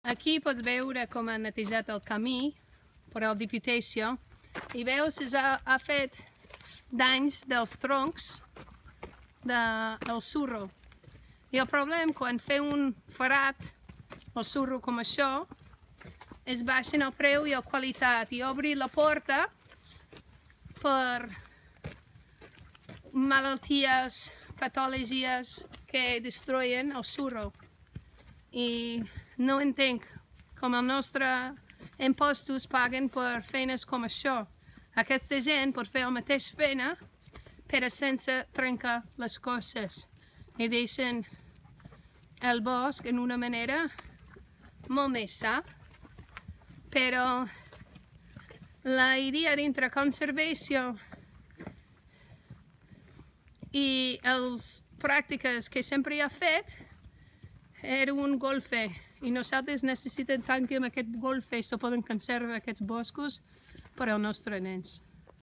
Aquí pots veure com ha netejat el camí per al Diputació i veus que ha fet danys dels troncs del surro. I el problema quan fer un farat o surro com això és baixen el preu i la qualitat i obrir la porta per malalties, patologies que destruyen el surro. I no entenc com els nostres impostos paguen per feines com això. Aquesta gent pot fer la mateixa feina però sense trencar les coses i deixen el bosc en una manera molt més sa. Però la idea dintre conservació i les pràctiques que sempre ha fet era un golfe i nosaltres necessitem tant que amb aquest golfe se poden conservar aquests boscos per als nostres nens.